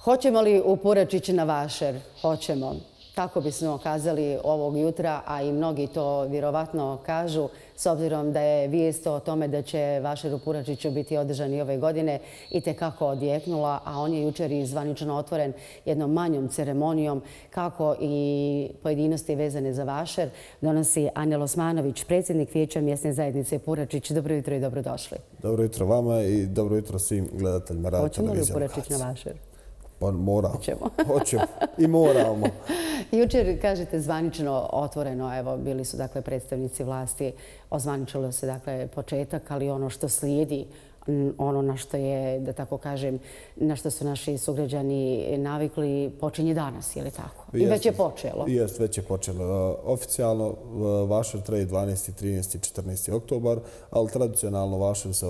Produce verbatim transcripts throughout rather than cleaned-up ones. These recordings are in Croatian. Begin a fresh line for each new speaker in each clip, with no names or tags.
Hoćemo li u Puračić na vašer? Hoćemo. Tako bismo kazali ovog jutra, a i mnogi to vjerovatno kažu, s obzirom da je vijest o tome da će vašer u Puračiću biti održan i ove godine itekako odjeknula, a on je jučer i zvanično otvoren jednom manjom ceremonijom, kako i pojedinosti vezane za vašer donosi Anel Osmanović, predsjednik Vijeća mjesne zajednice Puračić. Dobro jutro i dobrodošli.
Dobro jutro vama i dobro jutro svim gledateljima radio televizije.
Hoćemo li u Puračić na vašer?
Pa moramo.
Hoćemo.
Hoćemo. I moramo.
Jučer, kažete, zvanično otvoreno, evo, bili su dakle predstavnici vlasti, ozvaničilo se dakle početak, ali ono što slijedi, ono na što je, da tako kažem, na što su naši sugrađani navikli, počinje danas, je li tako? I već je počelo.
Jest, već je počelo. Oficijalno vašer traje dvanaesti, trinaesti, četrnaesti oktobar, ali tradicionalno vašer se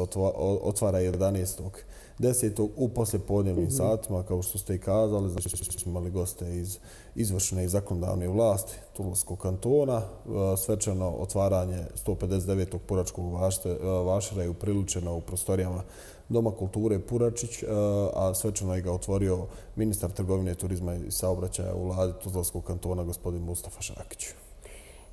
otvara jedanaestog desetog u poslijepodnevnim satima, kao što ste i kazali. Znači, smo imali goste iz izvršne i zakonodavne vlasti Tuzlanskog kantona. Svečano otvaranje sto pedeset devetog Puračkog vašera je upriličeno u prostorijama Doma kulture Puračić, a svečano je ga otvorio ministar trgovine, turizma i saobraćaja u vladi Tuzlanskog kantona, gospodin Mustafa Šakić.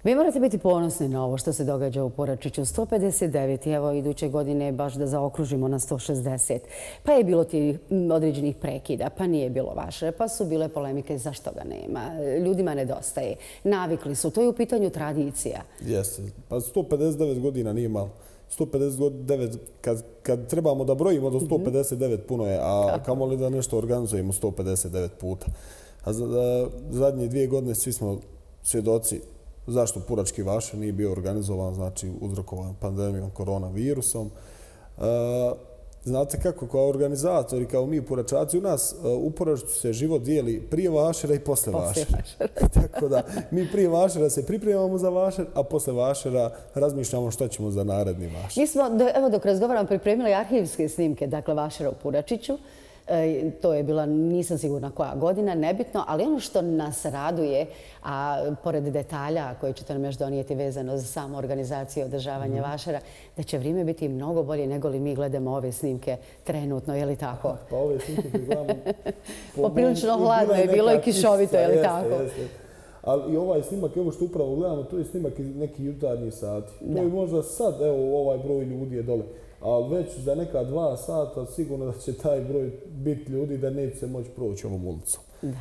Vi morate biti ponosni na ovo što se događa u Puračiću. sto pedeset devet, evo iduće godine baš da zaokružimo na sto šezdeset. Pa je bilo ti određenih prekida, pa nije bilo vaše, pa su bile polemike zašto ga nema. Ljudima nedostaje. Navikli su, to je u pitanju tradicija.
Jeste, pa sto pedeset devet godina nije malo. sto pedeset devet, kad, kad trebamo da brojimo do sto pedeset devet puno je, a kamoli da nešto organizujemo sto pedeset devet puta. A zadnje dvije godine svi smo svjedoci zašto Purački vašer nije bio organizovan, znači uzrokovan pandemijom koronavirusom. Znate kako, kao organizatori, kao mi Puračaci, u nas u Puračiću se život dijeli prije vašera i posle vašera. Tako da mi prije vašera se pripremamo za vašer, a posle vašera razmišljamo što ćemo za naredni vašer.
Mi smo, evo dok razgovaramo, pripremili arhivske snimke, dakle vašera u Puračiću. To je bila, nisam sigurna koja godina, nebitno, ali ono što nas raduje, a pored detalja koje ćete nam još donijeti vezano za samu organizaciju i održavanje vašera, da će vrijeme biti mnogo bolje nego li mi gledamo ove snimke trenutno, je li tako?
Pa ove snimke koji gledamo...
Poprilično hladno je bilo i kišovito, je li tako?
Ali i ovaj snimak, evo što upravo gledamo, to je snimak iz nekih jutarnjih sati. To je možda sad, evo ovaj broj ljudi je dole. Ali već za neka dva sata sigurno da će taj broj biti ljudi da neće se moći proći ovom ulicom.
Da.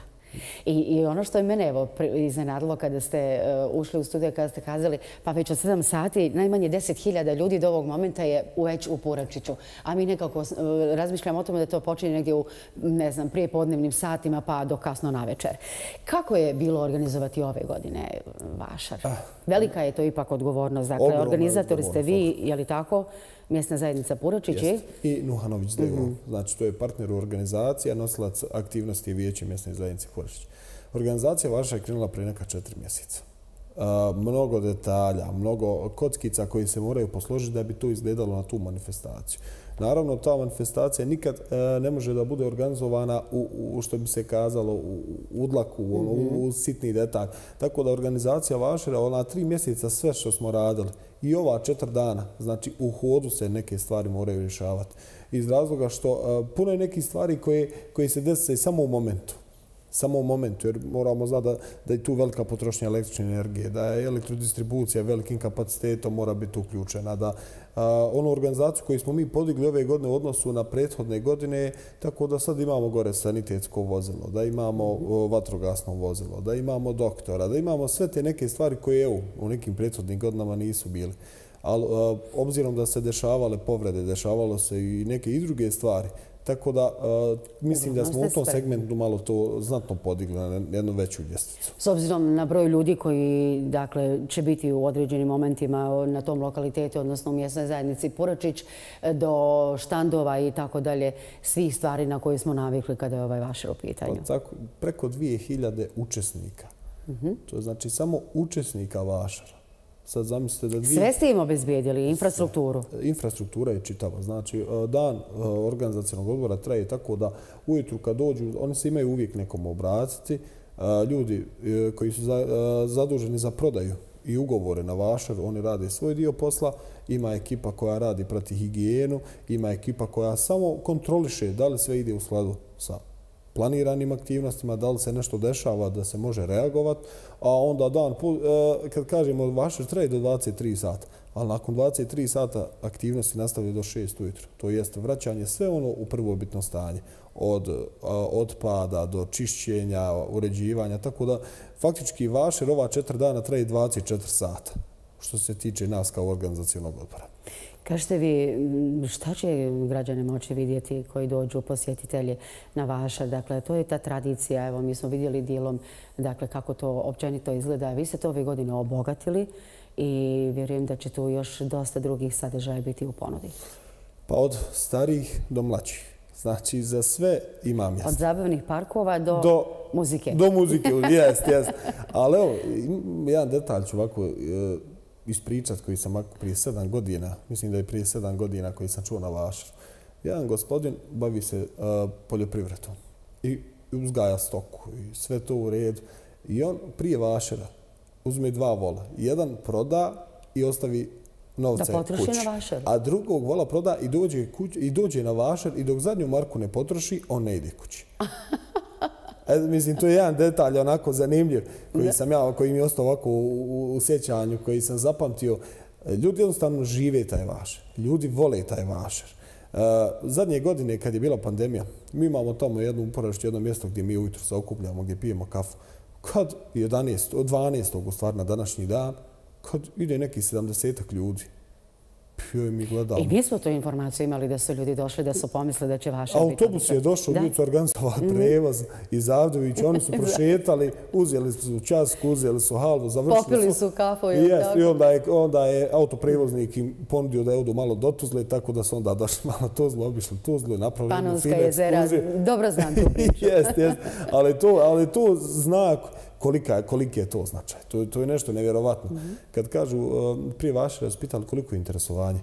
I, I ono što je mene evo iznenadilo kada ste uh, ušli u studiju, kada ste kazali pa već od sedam sati najmanje deset hiljada ljudi do ovog momenta je već u Puračiću. A mi nekako uh, razmišljamo o tome da to počinje negdje u, ne znam, prije podnevnim satima pa do kasno navečer. Kako je bilo organizovati ove godine vašar? Ah, Velika je to ipak odgovornost. Dakle, organizatori ste vi, je li tako? Mjesna zajednica Puračić je?
I Nuhanović D O. Znači, to je partner u organizaciji, a nosilac aktivnosti je Vijeće mjesne zajednice Puračić. Organizacija vaša je krenula prije neka četiri mjeseca. Mnogo detalja, mnogo kockica koji se moraju posložiti da bi to izgledalo na tu manifestaciju. Naravno, ta manifestacija nikad ne može da bude organizovana u, u što bi se kazalo, u udlaku, u, u sitni detalj. Tako da organizacija vašera, ona tri mjeseca sve što smo radili i ova četiri dana, znači u hodu se neke stvari moraju rješavati. Iz razloga što puno je nekih stvari koje, koje se desi samo u momentu. Samo u momentu, jer moramo znati da, da je tu velika potrošnja električne energije, da je elektrodistribucija velikim kapacitetom mora biti uključena, da a, onu organizaciju koju smo mi podigli ove godine u odnosu na prethodne godine, tako da sad imamo gore sanitetsko vozilo, da imamo o, vatrogasno vozilo, da imamo doktora, da imamo sve te neke stvari koje evo, u nekim prethodnim godinama nisu bili. Ali obzirom da se dešavale povrede, dešavalo se i neke i druge stvari, tako da uh, mislim da smo u tom segmentu malo to znatno podigli na jednu veću ljestvicu.
S obzirom na broj ljudi koji dakle, će biti u određenim momentima na tom lokalitetu, odnosno u mjesnoj zajednici Puračić, do štandova i tako dalje, svih stvari na koje smo navikli kada je ovaj vašer u pitanju.
Pa tako, preko dvije hiljade učesnika. Uh-huh. To je znači samo učesnika vašera. Sad zamislite da dvije...
Sve ste im obezbijedili, infrastrukturu?
Infrastruktura je čitava. Znači, dan organizacionog odbora traje tako da ujutru kad dođu, oni se imaju uvijek nekom obratiti. Ljudi koji su zaduženi za prodaju i ugovore na vašer, oni rade svoj dio posla. Ima ekipa koja radi prati higijenu, ima ekipa koja samo kontroliše da li sve ide u skladu sa planiranim aktivnostima, da li se nešto dešava da se može reagovati, a onda dan, kad kažemo vašer traje do dvadeset tri sata, ali nakon dvadeset tri sata aktivnosti nastavljaju do šest ujutro. To jeste vraćanje sve ono u prvobitno stanje. Od otpada do čišćenja, uređivanja, tako da faktički vašer ova četiri dana traje dvadeset četiri sata, što se tiče nas kao organizacionog odbora.
Kažete vi, šta će građani moći vidjeti koji dođu posjetitelji na vašer? Dakle, to je ta tradicija. Evo, mi smo vidjeli dijelom dakle, kako to općenito izgleda. Vi ste to ove godine obogatili i vjerujem da će tu još dosta drugih sadržaja biti u ponudi. Pa
od starijih do mlađih. Znači, za sve ima mjesta.
Od zabavnih parkova do, do muzike.
Do muzike, jest, jest. Ali evo, jedan detalj ću ovako ispričat koji sam prije sedam godina, mislim da je prije sedam godina koji sam čuo na vašeru. Jedan gospodin bavi se uh, poljoprivredom i uzgaja stoku i sve to u redu. I on prije vašera uzme dva vola. Jedan proda i ostavi novce
da potroši
kući.
Na vašer.
A drugog vola proda i dođe, kuć, i dođe na vašer i dok zadnju marku ne potroši, on ne ide kući. E, mislim, to je jedan detalj onako zanimljiv koji, sam ja, koji mi je ostao ovako u, u sjećanju, koji sam zapamtio. Ljudi jednostavno žive taj vašer. Ljudi vole taj vašer. Uh, zadnje godine kad je bila pandemija, mi imamo tamo jednu uporište, jedno mjesto gdje mi ujutro se okupljamo, gdje pijemo kafu. Kad jedanaestog, dvanaestog u stvari na današnji dan, kad ide neki sedamdesetak ljudi, joj mi gledamo.
I mi smo tu informaciju imali da su ljudi došli, da su pomislili da će vaša biti.
Autobus je došao, ljudi su organizovali prevoz iz Avdovića, oni su prošetali, uzeli su časku, uzeli su halvu, završili su.
Popili su kafu.
I, jest, i onda, je, onda je autoprevoznik im ponudio da odu malo do Tuzle, tako da su onda došli malo Tuzle, obišli Tuzle, napravili
Panonska jezera, dobro znam tu priču.
Jest, jest, ali to, ali to znak kolika, koliki je to značaj. To, to je nešto nevjerovatno. Mm-hmm. Kad kažu, prije vaše raspitali koliko je interesovanje,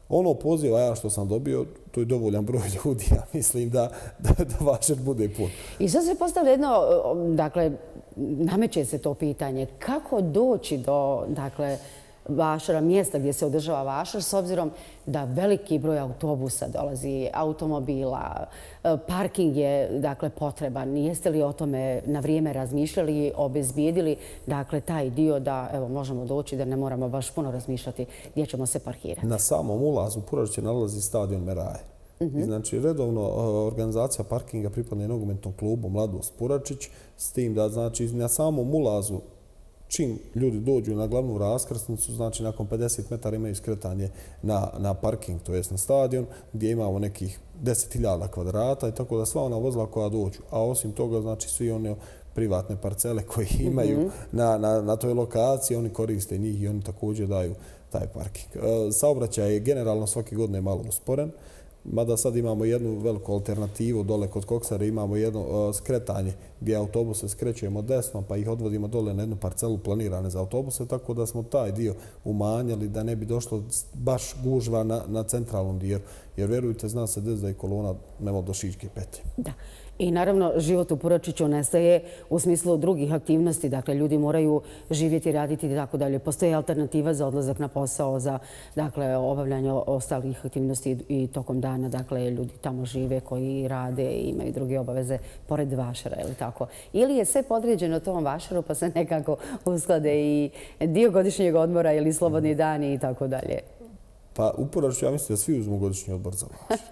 ono poziva ja što sam dobio, to je dovoljan broj ljudi, ja mislim da, da, da vašer bude pun.
I sad se postavlja jedno, dakle, nameće se to pitanje, kako doći do, dakle, vašera, mjesta gdje se održava vašer, s obzirom da veliki broj autobusa dolazi, automobila, parking je dakle potreban. Jeste li o tome na vrijeme razmišljali i obezbijedili dakle taj dio da evo možemo doći da ne moramo baš puno razmišljati gdje ćemo se parkirati?
Na samom ulazu Puračiće nalazi stadion Meraje. Mm-hmm. I znači redovno organizacija parkinga pripadne nogometnom klubu Mladost Puračić, s tim da znači na samom ulazu čim ljudi dođu na glavnu raskrsnicu, znači nakon pedeset metara imaju skretanje na, na parking, to jest na stadion, gdje imamo nekih deset hiljada kvadrata i tako da sva ona vozila koja dođu. A osim toga, znači svi one privatne parcele koje imaju mm-hmm. na, na, na toj lokaciji, oni koriste njih i oni također daju taj parking. E, saobraćaj je generalno svake godine malo usporen, mada sad imamo jednu veliku alternativu dole kod Koksare, imamo jedno uh, skretanje gdje autobuse skrećujemo desno pa ih odvodimo dole na jednu parcelu planirane za autobuse, tako da smo taj dio umanjali da ne bi došlo baš gužva na, na centralnom dijelu. Jer vjerujte, zna se des da je kolona nema do Šiške petlje. Da.
I naravno, život u Puračiću nestaje u smislu drugih aktivnosti. Dakle, ljudi moraju živjeti, raditi i tako dalje. Postoji alternativa za odlazak na posao, za dakle, obavljanje ostalih aktivnosti i tokom dana. Dakle, ljudi tamo žive koji rade i imaju druge obaveze pored vašera, ili tako? Ili je sve podređeno tom vašeru pa se nekako usklade i dio godišnjeg odmora ili slobodni dani i tako dalje?
Pa u Puračiću ja mislim da svi uzmu godišnji odmor za vašer.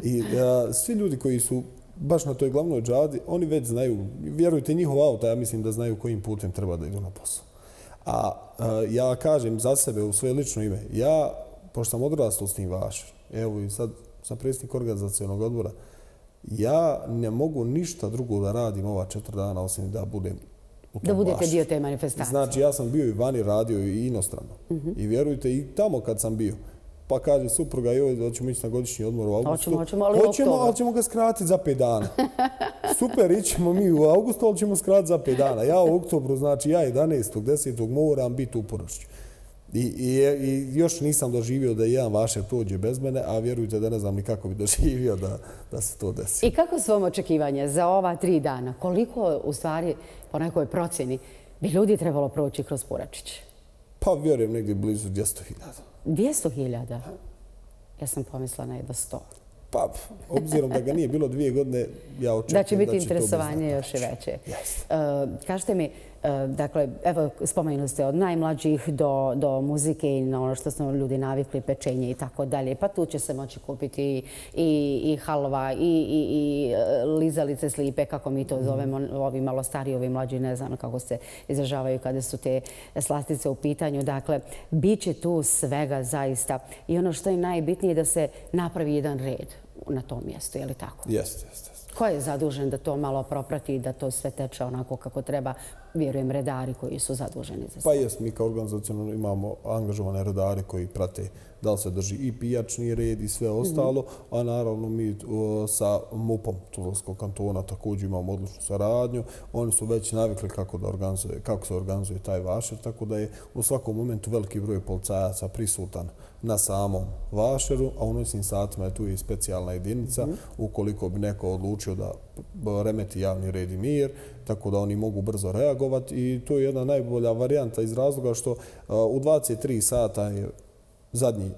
I a, svi ljudi koji su baš na toj glavnoj džadi, oni već znaju, vjerujte, njihov auto, ja mislim da znaju kojim putem treba da idu na posao. A, a ja kažem za sebe u svoje lično ime, ja, pošto sam odrastao s tim vašer, evo i sad sam predsjednik organizacionog odbora, ja ne mogu ništa drugo da radim ova četiri dana osim da budem u tom
Da budete
vašer.
dio te manifestacije.
Znači, ja sam bio i vani radio i inostrano. Mm-hmm. I vjerujte, i tamo kad sam bio, pa kaže supruga, joj, da ćemo ići na godišnji odmor u augustu.
Hoćemo, hoćemo, ali
hoćemo, ali ćemo ga skratiti za pet dana. Super, ićemo mi u augustu, ali ćemo skratiti za pet dana. Ja u oktobru, znači ja jedanaestog desetog moram biti u Puračiću. I, i, I još nisam doživio da jedan vašer prođe bez mene, a vjerujte da ne znam ni kako bi doživio da, da se to desi.
I kako su vam očekivanja za ova tri dana? Koliko, u stvari, po nekoj procjeni, bi ljudi trebalo proći kroz Puračić?
Pa vjerujem negdje blizu dvjesto hiljada.
dvjesto hiljada? Ja sam pomislila na jedno sto.
Pa, obzirom da ga nije bilo dvije godine, ja očekujem
da će biti
da će
interesovanje još i veće. Kažete mi, dakle, evo, spomenuli ste od najmlađih do, do muzike i na ono što su ljudi navikli, pečenje i tako dalje. Pa tu će se moći kupiti i, i, i halva i, i, i lizalice slipe, kako mi to zovemo, ovi malo stariji, ovi mlađi, ne znam kako se izražavaju kada su te slastice u pitanju. Dakle, bit će tu svega zaista. I ono što je najbitnije da se napravi jedan red na tom mjestu, je li tako?
Jeste, jeste.
Ko je zadužen da to malo proprati i da to sve teče onako kako treba? Vjerujem, redari koji su zaduženi za sve.
Pa jest, mi kao organizacionalno imamo angažovane redare koji prate da li se drži i pijačni red i sve ostalo, a naravno mi sa MUP-om Tuzlanskog kantona također imamo odličnu saradnju. Oni su već navikli kako, da organizuje, kako se organizuje taj vašer, tako da je u svakom momentu veliki broj policajaca prisutan na samom vašeru, a u noćnim satima je tu i specijalna jedinica ukoliko bi neko odlučio da remeti javni red i mir, tako da oni mogu brzo reagovati i to je jedna najbolja varijanta iz razloga što u dvadeset tri sata je zadnji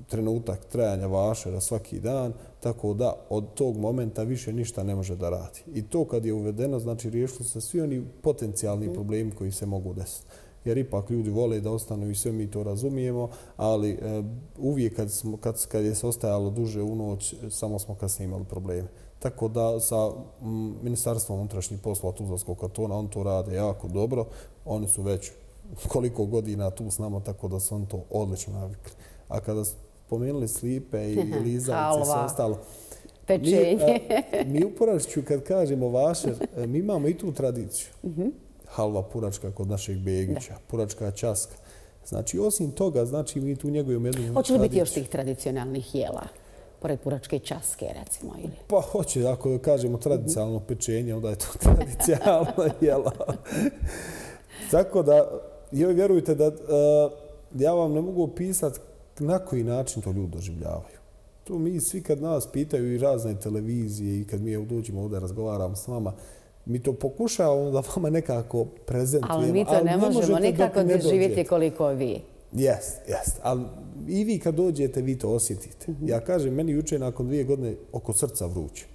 trenutak trajanja vašera svaki dan, tako da od tog momenta više ništa ne može da radi. I to kad je uvedeno, znači riješili se svi oni potencijalni problemi koji se mogu desiti. Jer ipak ljudi vole da ostanu i sve mi to razumijemo, ali e, uvijek kad, smo, kad, kad je se ostajalo duže u noć, samo smo kasnije imali probleme. Tako da sa m, Ministarstvom unutrašnjih poslova Tuzlanskog kantona on to rade jako dobro. Oni su već koliko godina tu s nama, tako da su on to odlično navikli. A kada spomenuli slipe i lizalice i sve ostalo,
pečenje.
Mi, mi u Puračiću kad kažemo vašer, mi imamo i tu tradiciju. Halva puračka kod našeg Begića, puračka časka. Znači, osim toga, znači mi tu njegujemo jednu tradiciju.
Hoće li biti još tih tradicionalnih jela? Pored puračke časke, recimo, ili?
Pa hoće, ako kažemo tradicionalno pečenje, onda je to tradicionalno jela. Tako da, joj, vjerujte da uh, ja vam ne mogu opisati na koji način to ljudi doživljavaju. To mi svi kad nas pitaju i razne televizije i kad mi dođemo ovdje razgovaramo s vama, mi to pokušavamo da vama nekako prezentujemo.
Ali mi to ne, ne možemo nikako doživjeti koliko vi.
Jest, jest. Ali i vi kad dođete, vi to osjetite. Ja kažem, meni juče nakon dvije godine oko srca vruće.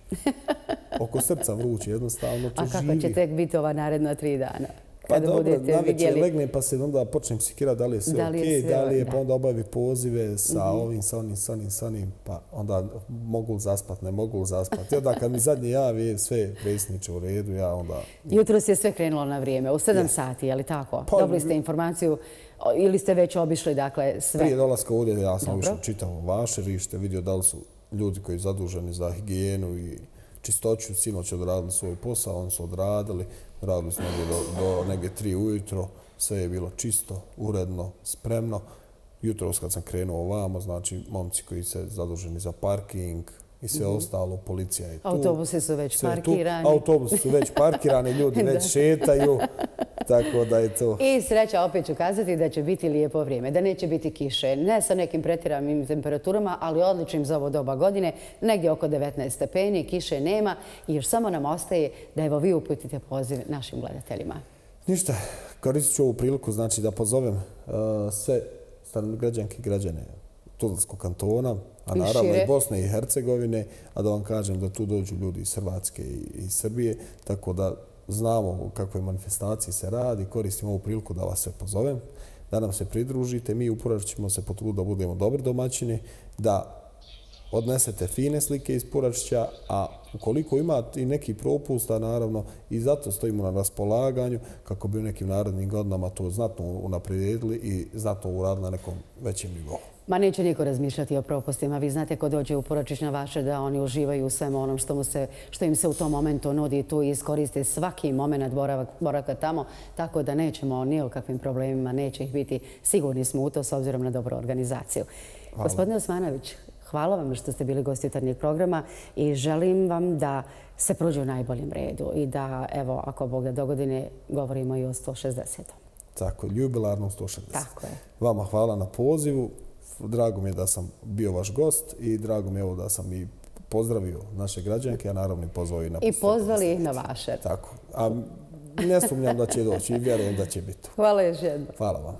Oko srca vruće, jednostavno to živi.
A kako će tek biti ova naredna tri dana?
Pa dobro, navečer legnem pa se onda počnem sikirati da li je sve okej, da li je, pa onda obavi pozive sa ovim, sa onim, sa onim, sa onim, pa onda mogu zaspat, ne mogu zaspat. I onda kad mi zadnje javi sve predsjedniče u redu, ja onda...
Jutros je sve krenulo na vrijeme, u sedam sati, je li tako? Dobili ste informaciju ili ste već obišli, dakle, sve?
Prije dolaska ovdje ja sam ušao čitavo vašerište, vidio da li su ljudi koji su zaduženi za higijenu i čistoću, sinoć odradili svoj posao, oni su odradili, radili su negdje do, do negdje tri ujutro, sve je bilo čisto, uredno, spremno. Jutros kad sam krenuo ovamo, znači momci koji se zaduženi za parking i sve mm-hmm. ostalo, policija je tu.
Autobusi su već parkirani.
Autobusi su već parkirani, ljudi već šetaju, tako da je to...
I sreća, opet ću kazati da će biti lijepo vrijeme, da neće biti kiše, ne sa nekim pretjeranim temperaturama, ali odličnim za ovo doba godine, negdje oko devetnaest stepeni, kiše nema i još samo nam ostaje da evo vi uputite poziv našim gledateljima.
Ništa, koristit ću ovu priliku znači da pozovem uh, sve građanke i građane Tuzlanskog kantona, a naravno i Bosne i Hercegovine, a da vam kažem da tu dođu ljudi iz Hrvatske i iz Srbije, tako da znamo u kakvoj manifestaciji se radi, koristim ovu priliku da vas sve pozovem, da nam se pridružite. Mi u Purač ćemo se potruditi da budemo dobri domaćini, da odnesete fine slike iz Puračića, a ukoliko imate i neki propusta, naravno, i zato stojimo na raspolaganju kako bi u nekim narednim godinama to znatno unaprijedili i znatno uradili na nekom većem nivou.
Ma neće niko razmišljati o propustima. Vi znate ko dođe u Puračić na vaše da oni uživaju u svemu onom što, mu se, što im se u tom momentu nudi tu i iskoriste svaki moment boravak, boravka tamo, tako da nećemo ni o kakvim problemima, neće ih biti. Sigurni smo u to s obzirom na dobru organizaciju. Hvala. Gospodine Osmanović, hvala vam što ste bili gosti jutarnjeg programa i želim vam da se prođe u najboljem redu i da, evo, ako Bog da dogodine, govorimo i o sto šezdesetom.
Tako, jubilarnom sto šezdesetom.
Tako je.
Vama hvala na pozivu. Drago mi je da sam bio vaš gost i drago mi je da sam i pozdravio naše građanke, a naravno i pozvao i na
I pozvali ih na vaše.
Tako. A ne sumnjam da će doći i vjerujem da će biti.
Hvala još jednom.
Hvala vam.